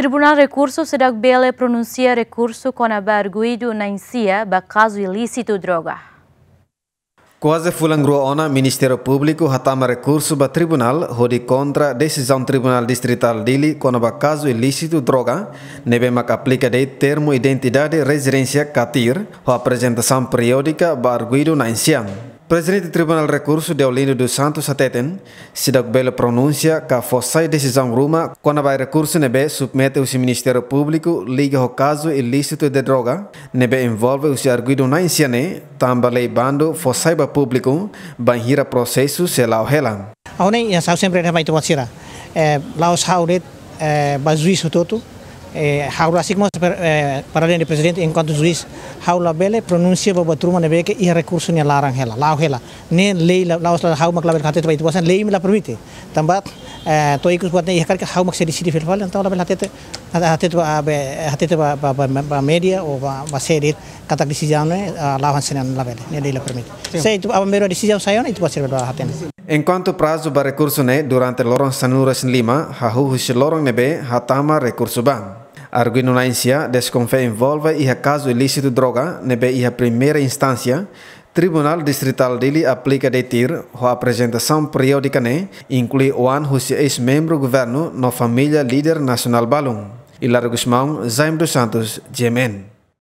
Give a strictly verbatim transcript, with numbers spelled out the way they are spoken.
Tribunál Rekursu seidauk bele pronunsia rekursu kona-ba arguidu na'in-sia ba kazu ilísitu droga. Kuaze fulan rua ona, Ministériu Públiku hatama rekursu ba tribunál hodi kontra desizaun Tribunál Distritál Dili kona-ba kazu ilísitu droga, ne'ebé mak aplika de'it termu identidade rezidénsia ka TIR, ho aprezentasaun periódika ba arguidu na'in-sia. Prezidente Tribunál Rekursu, Deolindo dos Santos, hateten, seidauk bele pronunsia ka fó sai desizaun ruma kona-ba rekursu ne'ebé submete husi Ministériu Públiku liga ho kazu ilísitu de droga, ne'ebé envolve husi arguidu na'in-sia ne'e, tanba lei bandu fó sai ba públiku bainhira prosesu sei la'o hela. Ha'u ne'e, ya, ha'u sempre hanesan ita-boot sira. Eh, la'ós ha'u de'it, eh, ba juís hotu-hotu, eh, ha'u rasik mós per-, eh, para além de prezidente, enkuantu juís, ha'u labele pronunsia ba buat ruma ne'ebé ke iha rekursu nia laran hela, la'o hela. Ne'e lei la, la'ós la ha'u mak labele hatete ba ita-boot sira, lei mak la permite. Tanba, eh, to'o ikus buat ne'e iha karik ha'u mak sei deside fila fali, entaun labele hatete, hatete ba, be, hatete ba, ba, ba, ba média ou ba, ba sé de'it katak desizaun ne'e, ah, la'o hanesan ne'e, labele, ne'e lei la permite. Sin. Se ita, aban-bainrua desizaun sai ona, ita-boot sira bele hatene. Enkuantu prazu ba rekursu ne'e durante loron sanulu-resin-lima, hahú husi loron ne'ebé hatama rekursu ba. Arguidu na'in-sia deskonfia envolve iha kazu ilísitu droga ne'ebé iha primeira instánsia, Tribunál Distritál Dili aplika de'it TIR, ho aprezentasaun periódika ne'e inklui oan husi eis-membru governu no família líder nasionál balun. Hilário Gusmão, Jaime dos Santos, G M N.